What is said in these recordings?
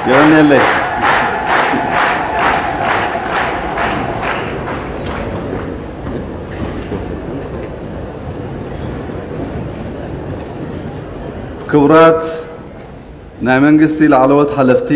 የቐንየለይ። ክቡራት ናይ መንግስቲ ላዕለዎት ሓለፍቲ፣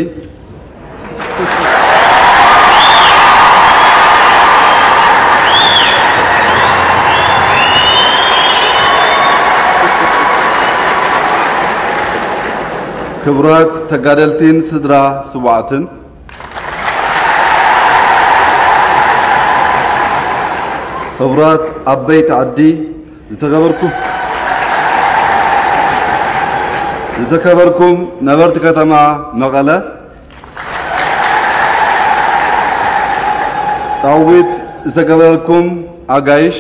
ክቡራት ተጋደልቲን ስድራ ስዋዕትን፣ ክቡራት ዓበይቲ ዓዲ፣ ዝተኸበርኩም፣ ዝተከበርኩም ነበርቲ ከተማ መቐለ፣ ጻዊት ዝተገበረልኩም ኣጋይሽ፣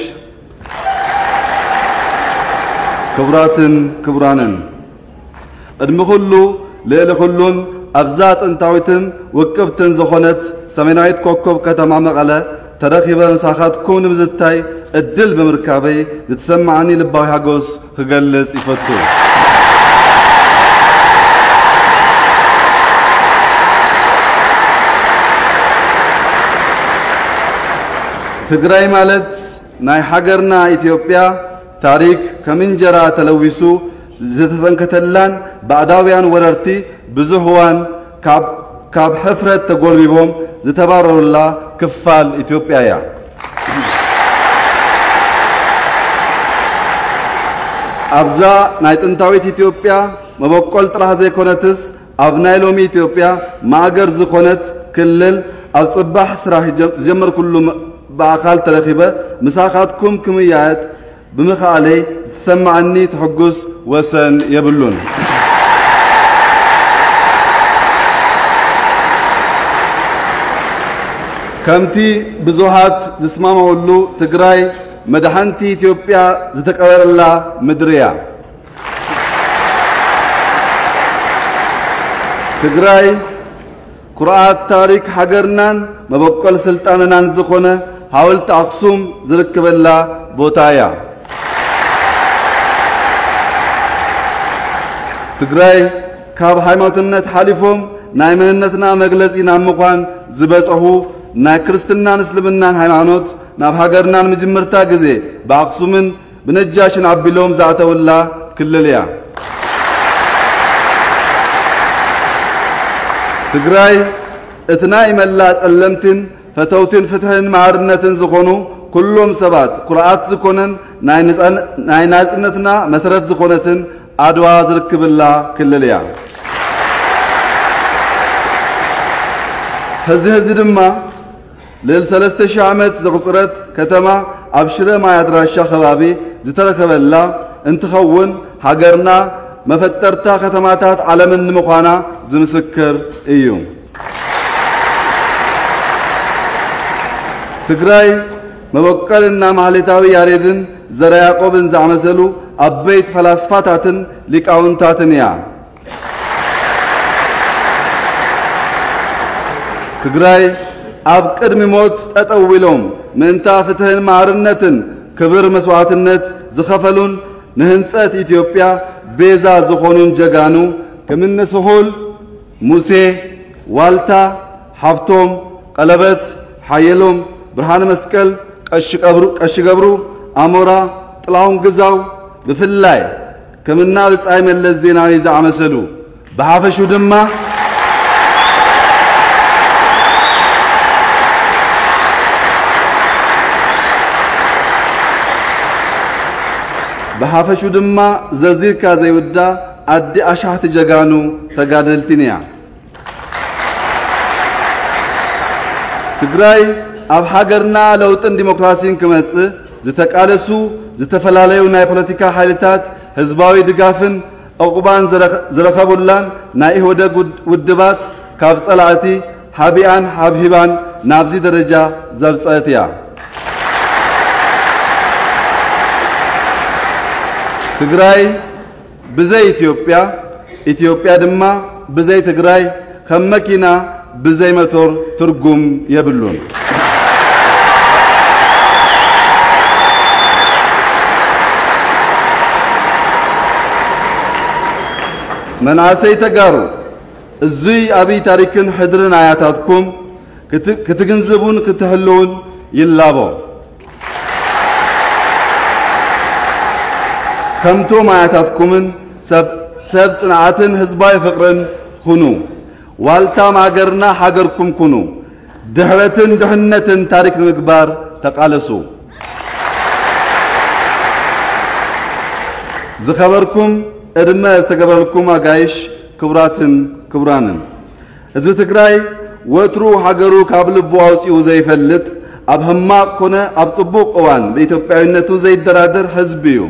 ክቡራትን ክቡራንን፣ ቅድሚ ኩሉ ልዕሊ ኩሉን ኣብዛ ጥንታዊትን ውቅብትን ዝኾነት ሰሜናዊት ኮከብ ከተማ መቐለ ተረኺበ ምሳኻትኩም ንምዝታይ ዕድል ብምርካበይ ዝተሰማዓኒ ልባዊ ሓጎስ ክገልጽ ይፈቱ። ትግራይ ማለት ናይ ሃገርና ኢትዮጵያ ታሪክ ከም እንጀራ ተለዊሱ ዝተሰንከተላን ባዕዳውያን ወረርቲ ብዙሕ እዋን ካብ፣ ካብ ሕፍረት ተጎልቢቦም ዝተባረሩላ ክፋል ኢትዮጵያ እያ። ኣብዛ ናይ ጥንታዊት ኢትዮጵያ መበቆል ጥራሕ ዘይኮነትስ፣ ኣብ ናይ ሎሚ ኢትዮጵያ ማእገር ዝኾነት ክልል ኣብ ጽባሕ ስራሕ ጀ-፣ ዝጀመርኩሉ ም-፣ ብኣኻል ተረኺበ ምሳኻትኩም ክምያየጥ ብምኽኣለይ ዝተሰማዓኒ ትሕጉስ ወሰን የብሉን። ከምቲ ብዙሃት ዝስማማውሉ ትግራይ መድሓንቲ ኢትዮጵያ ዝተቀበረላ ምድሪ እያ። ትግራይ ኩርዓት ታሪክ ሃገርናን መበቆል ስልጣነናን ዝኾነ ሓወልቲ ኣኽሱም ዝርከበላ ቦታ እያ። ትግራይ ካብ ሃይማኖትነት ሓሊፎም ናይ መንነትና መግለጺ ናብ ምዃን ዝበጽሑ ናይ ክርስትናን እስልምናን ሃይማኖት ናብ ሃገርና ንምጅምርታ ግዜ ብኣኽሱምን ብነጃሽን ኣቢሎም ዝኣተውላ ክልል እያ። ትግራይ እቲ ናይ መላእ ጸለምትን ፈተውትን ፍትሕን ማዕርነትን ዝኾኑ ኩሎም ሰባት ኩርዓት ዝኾነን ናይ ነጻን-፣ ናይ ናጽነትና መሰረት ዝኾነትን ኣድዋ ዝርክብላ ክልል እያ። ሕዚ ሕዚ ድማ ልዕሊ ሰለስተ ሺሕ ዓመት ዘቑጽረት ከተማ ኣብ ሽረ ማይ ኣድራሻ ከባቢ ዝተረኸበላ እንትኸውን፣ ሃገርና መፈጠርታ ከተማታት ዓለምን ንምዃና ዝምስክር እዩ። ትግራይ መበቆልና ማህሌታዊ ያሬድን ዘራ ያዕቆብን ዝኣመሰሉ ዓበይቲ ፈላስፋታትን ሊቃውንታትን እያ። ትግራይ ኣብ ቅድሚ ሞት ጠጠው ኢሎም ምእንታ ፍትሕን ማዕርነትን ክብር መስዋዕትነት ዝኸፈሉን ንህንጸት ኢትዮጵያ ቤዛ ዝኾኑን ጀጋኑ ከምነ ስሁል፣ ሙሴ፣ ዋልታ፣ ሃብቶም፣ ቀለበት፣ ሓየሎም፣ ብርሃነ መስቀል፣ ቀሺ ቀብሩ-፣ ቀሺ ገብሩ፣ ኣሞራ፣ ጥላሁን ግዛው፣ ብፍላይ ከምና ብጻይ መለስ ዜናዊ ዝኣመሰሉ፣ ብሓፈሹ ድማ፣ ብሓፈሹ ድማ ዘዚርካ ዘይውዳ ኣዲ ኣሻሕቲ ጀጋኑ ተጋደልቲን እያ። ትግራይ ኣብ ሃገርና ለውጥን ዲሞክራሲን ክመጽእ ዝተቃለሱ ዝተፈላለዩ ናይ ፖለቲካ ሓይልታት ህዝባዊ ድጋፍን ዕቑባን ዝረኸ-፣ ዝረኸቡላን ናይ ኢህወደግ ውድ-፣ ውድባት ካብ ጸላእቲ ሃቢኣን ሃብሂባን ናብዚ ደረጃ ዘብጸአት እያ። ትግራይ ብዘይ ኢትዮጵያ፣ ኢትዮጵያ ድማ ብዘይ ትግራይ ከም መኪና ብዘይ መቶር ትርጉም የብሉን። መናእሰይ ተጋሩ፣ እዙይ ኣብይ ታሪክን ሕድርን ኣያታትኩም ክት-፣ ክትግንዝቡን ክትሕልውን ይላቦ። ከምቶም ኣያታትኩምን ሰብ፣ ሰብ ጽንዓትን ህዝባዊ ፍቕርን ኩኑ። ዋልታ ማእገርና ሃገርኩም ኩኑ። ድሕረትን ድሕነትን ታሪክ ንምግባር ተቓለሱ። ዝኸበርኩም፣ ዕድመ ዝተገበረልኩም ኣጋይሽ፣ ክቡራትን ክቡራንን፣ ህዝቢ ትግራይ ወትሩ ሃገሩ ካብ ልቡ ኣውፂኡ ዘይፈልጥ፣ ኣብ ሕማቕ ኮነ ኣብ ፅቡቕ እዋን ብኢትዮጵያዊነቱ ዘይደራደር ህዝቢ እዩ።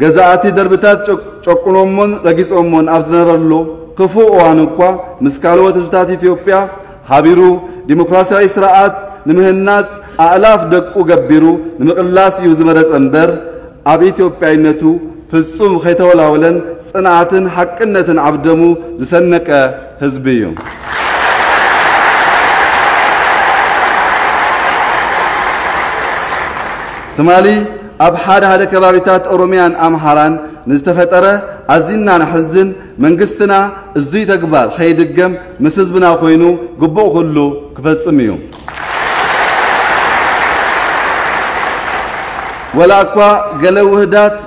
ገዛእቲ ደርብታት ጨ-፣ ጨቁኖሞን ረጊጾሞን ኣብ ዝነበርሉ ክፉእ እዋን እኳ፣ ምስ ካልኦት ህዝብታት ኢትዮጵያ ሓቢሩ፣ ዲሞክራሲያዊ ስርዓት ንምህናጽ ኣእላፍ ደቁ ገቢሩ ንምቕላስ እዩ ዝመረጸ እምበር፣ ኣብ ኢትዮጵያዊነቱ ፍጹም ከይተወላወለን ጽንዓትን ሓቅነትን ኣብ ደሙ ዝሰነቀ ህዝቢ እዩ። ትማሊ ኣብ ሓደ ሓደ ከባቢታት ኦሮሚያን ኣምሓራን ንዝተፈጠረ ኣዚና ነሕዝን፣ መንግስትና እዙይ ተግባር ከይድገም ምስ ህዝብና ኮይኑ ግቡእ ኩሉ ክፈጽም እዩ። ወላ እኳ ገለ ውህዳት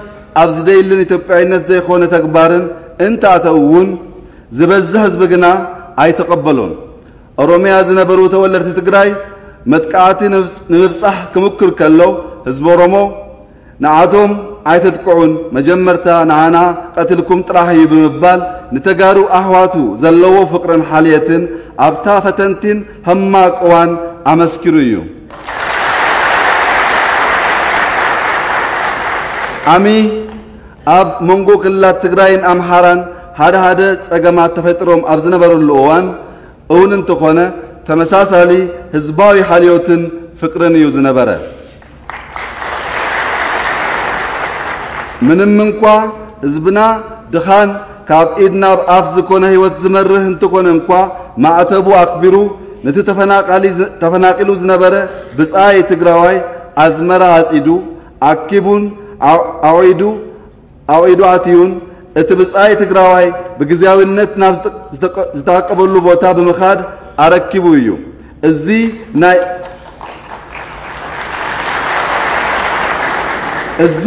ኣብ ዝደይልን ኢትዮጵያዊነት ዘይኮነ ተግባርን እንተኣተው እውን፣ ዝበዝሕ ህዝቢ ግና ኣይተቐበሎን። ኦሮሚያ ዝነበሩ ተወለድቲ ትግራይ መጥቃዕቲ ንምብጽ-፣ ንምብጻሕ ክምክር ከሎ፣ ህዝቢ ኦሮሞ ንዓቶም ኣይተጥቅዑን፣ መጀመርታ ንዓና ቀትልኩም ጥራሕ እዩ ብምባል፣ ንተጋሩ ኣሕዋቱ ዘለዎ ፍቕርን ሓልየትን ኣብታ ፈተንቲን ሕማቕ እዋን ኣመስኪሩ እዩ። ዓሚ ኣብ መንጎ ክልላት ትግራይን ኣምሓራን ሓደ ሓደ ጸገማት ተፈጢሮም ኣብ ዝነበሩሉ እዋን እውን እንተኾነ፣ ተመሳሳሊ ህዝባዊ ሓልዮትን ፍቕርን እዩ ዝነበረ። ምንም እንኳ ህዝብና ድኻን ካብ ኢድ ናብ ኣፍ ዝኾነ ህይወት ዝመርህ እንተኾነ እንኳ፣ ማዕተቡ ኣኽቢሩ ነቲ ተፈናቃሊ ዝ-፣ ተፈናቂሉ ዝነበረ ብጻይ ትግራዋይ ኣዝመራ ኣጺዱ፣ ኣኪቡን፣ ኣው-፣ ኣውዒዱ፣ ኣውዒዱ ኣትዩን፣ እቲ ብጻይ ትግራዋይ ብግዝያዊነት ናብ ዝተ-፣ ዝተቀ-፣ ዝተዓቀበሉ ቦታ ብምኻድ ኣረኪቡ እዩ። እዚ ናይ፣ እዚ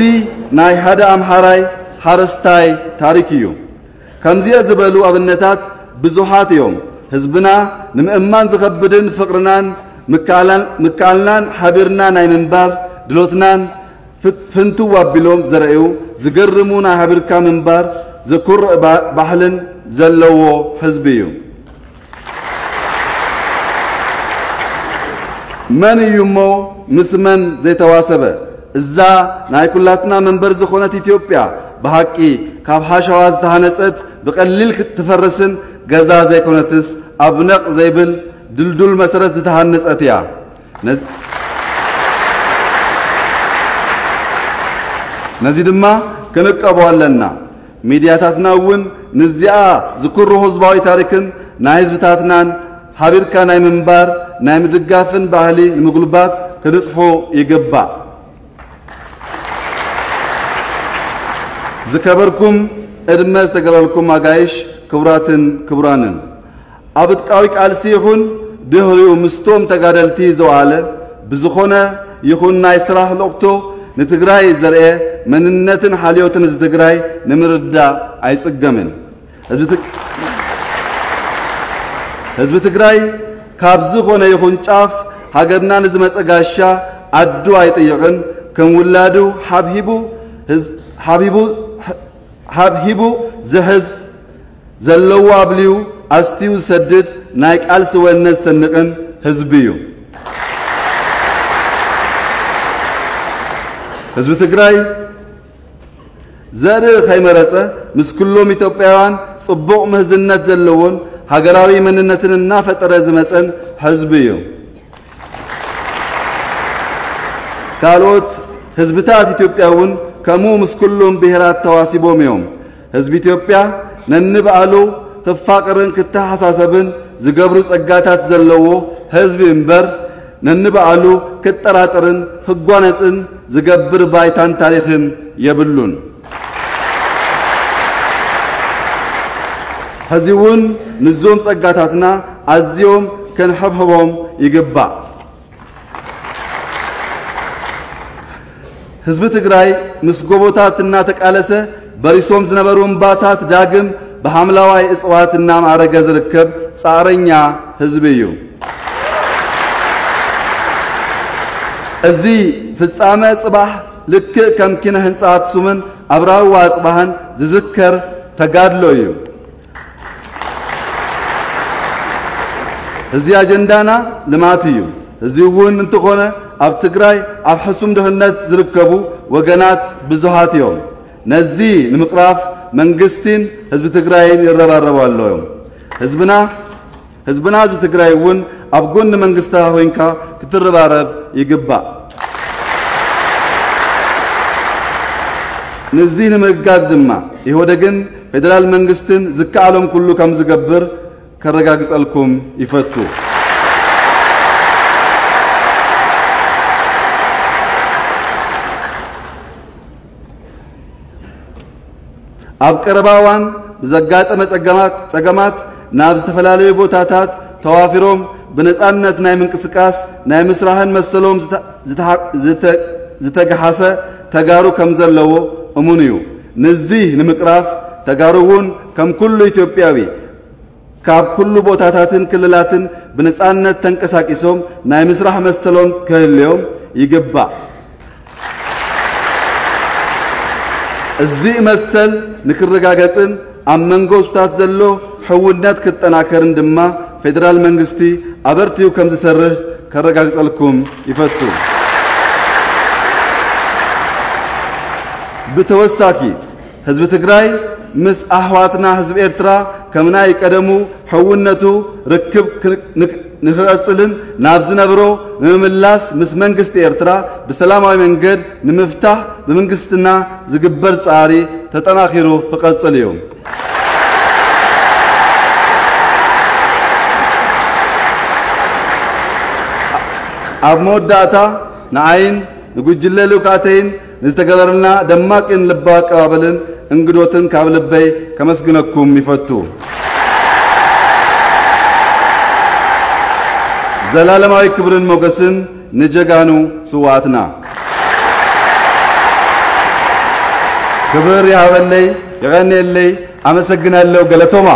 ናይ ሓደ ኣምሓራይ ሓረስታይ ታሪክ እዩ። ከምዚኦ ዝበሉ ኣብነታት ብዙሓት እዮም። ህዝብና ንምእማን ዝኸብድን ፍቕርናን ምክኣላን፣ ምክኣልናን ሓቢርና ናይ ምንባር ድሎትናን ፍት-፣ ፍንትው ኣቢሎም ዘርእዩ ዝገርሙ ናይ ሓቢርካ ምንባር ዘኩርዕ ባ-፣ ባህልን ዘለዎ ህዝቢ እዩ። መን እዩ እሞ ምስ መን ዘይተዋሰበ? እዛ ናይ ኩላትና መንበር ዝኾነት ኢትዮጵያ ብሓቂ ካብ ሓሸዋ ዝተሃነጸት፣ ብቐሊል ክትፈርስን ገዛ ዘይኮነትስ፣ ኣብ ነቕ ዘይብል ድልዱል መሰረት ዝተሃነጸት እያ። ነዚ፣ ነዚ ድማ ክንቀቦ ኣለና። ሚድያታትና እውን ንዚኣ ዝኩርሁ ህዝባዊ ታሪክን ናይ ህዝብታትናን ሓቢርካ ናይ ምንባር፣ ናይ ምድጋፍን ባህሊ ንምጉልባት ክንጥፎ ይግባእ። ዝከበርኩም፣ ዕድመ ዝተገበረልኩም ኣጋይሽ፣ ክቡራትን ክቡራንን፣ ኣብ ዕጥቃዊ ቃልሲ ይኹን ድሕሪኡ ምስቶም ተጋደልቲ ዝወዓለ ብዝኾነ ይኹን ናይ ስራሕ ልእኽቶ ንትግራይ ዘርኤ መንነትን ሓልዮትን ህዝቢ ትግራይ ንምርዳእ ኣይጽገምን። ህዝቢ ትግ-፣ ህዝቢ ትግራይ ካብ ዝኾነ ይኹን ጫፍ ሃገርና ንዝመጸ ጋሻ ዓዱ ኣይጥይቕን። ከም ውላዱ ሓብሂቡ ህዝ-፣ ሓብሂቡ፣ ሓብሂቡ ዝሕዝ፣ ዘለዎ ኣብልዩ ኣስትዩ ዝሰድድ፣ ናይ ቃልሲ ወነ ዝሰንቕን ህዝቢ እዩ። ህዝቢ ትግራይ ዘርኢ ከይመረጸ፣ ምስ ኩሎም ኢትዮጵያውያን ጽቡቕ ምህዝነት ዘለዎን ሃገራዊ መንነትን እናፈጠረ ዝመጸን ህዝቢ እዩ። ካልኦት ህዝብታት ኢትዮጵያ እውን ከምኡ ምስ ኩሎም ብሄራት ተዋሲቦም እዮም። ህዝቢ ኢትዮጵያ ነንባዕሉ ክፋቕርን ክተሓሳሰብን ዝገብሩ ጸጋታት ዘለዎ ህዝቢ እምበር፣ ነንባዕሉ ክጠራጠርን ክጓነጽን ዝገብር ባይታን ታሪኽን የብሉን። ሕዚ እውን ንዞም ጸጋታትና ኣዝዮም ከንሕብሕቦም ይግባእ። ህዝቢ ትግራይ ምስ ጎቦታት እናተቃለሰ በሪሶም ዝነበሩ እምባታት ዳግም ብሓምለዋይ እፅዋት እናማዕረገ ዝርከብ ጻዕረኛ ህዝቢ እዩ። እዚ ፍጻመ ጽባሕ ልክእ ከም ኪነ ህንጻ ኣክሱምን ኣብራህዋ ኣጽባሃን ዝዝከር ተጋድሎ እዩ። እዚ ኣጀንዳና ልማት እዩ። እዚ እውን እንተኾነ ኣብ ትግራይ ኣብ ሕሱም ድኽነት ዝርከቡ ወገናት ብዙሃት እዮም። ነዚ ንምቕራፍ መንግስቲን ህዝቢ ትግራይን ይረባረቡ ኣለዉ እዮም። ህዝብና ህዝብና ህዝቢ ትግራይ እውን ኣብ ጎኒ መንግስትኻ ኮይንካ ክትረባረብ ይግባእ። ነዚ ንምእጋዝ ድማ ኢህወደግን ፌደራል መንግስትን ዝከኣሎም ኩሉ ከም ዝገብር ከረጋግጸልኩም ይፈቱ። ኣብ ቀረባ እዋን ብዘጋጠመ ጸገማት ናብ ዝተፈላለዩ ቦታታት ተዋፊሮም ብነጻነት ናይ ምንቅስቃስ ናይ ምስራሕን መሰሎም ዝተገሓሰ ተጋሩ ከም ዘለዎ እሙን እዩ። ንዚ ንምቅራፍ ተጋሩ እውን ከም ኩሉ ኢትዮጵያዊ ካብ ኩሉ ቦታታትን ክልላትን ብነጻነት ተንቀሳቂሶም ናይ ምስራሕ መሰሎም ክህልዮም ይግባእ። እዚ መሰል ንክረጋገጽን ኣብ መንጎ ህዝብታት ዘሎ ሕውነት ክጠናከርን ድማ ፌደራል መንግስቲ ኣበርቲኡ ከም ዝሰርህ ከረጋግጸልኩም ይፈቱ። ብተወሳኪ ህዝቢ ትግራይ ምስ ኣሕዋትና ህዝቢ ኤርትራ ከም ናይ ቀደሙ ሕውነቱ ርክብ ንክቐጽልን ናብ ዝነብሮ ንምምላስ ምስ መንግስቲ ኤርትራ ብሰላማዊ መንገድ ንምፍታሕ ብመንግስትና ዝግበር ጻዕሪ ተጠናኺሩ ክቐጽል እዩ። ኣብ መወዳእታ ንዓይን ንጉጅለ ልኡካተይን ንዝተገበረልና ደማቅን ልባዊ ኣቀባበልን እንግዶትን ካብ ልበይ ከመስግነኩም ይፈቱ። ዘላለማዊ ክብርን ሞገስን ንጀጋኑ ስውኣትና። ክብር ይሃበለይ፣ የቐንየለይ፣ ኣመሰግናለሁ። ገለቶማ።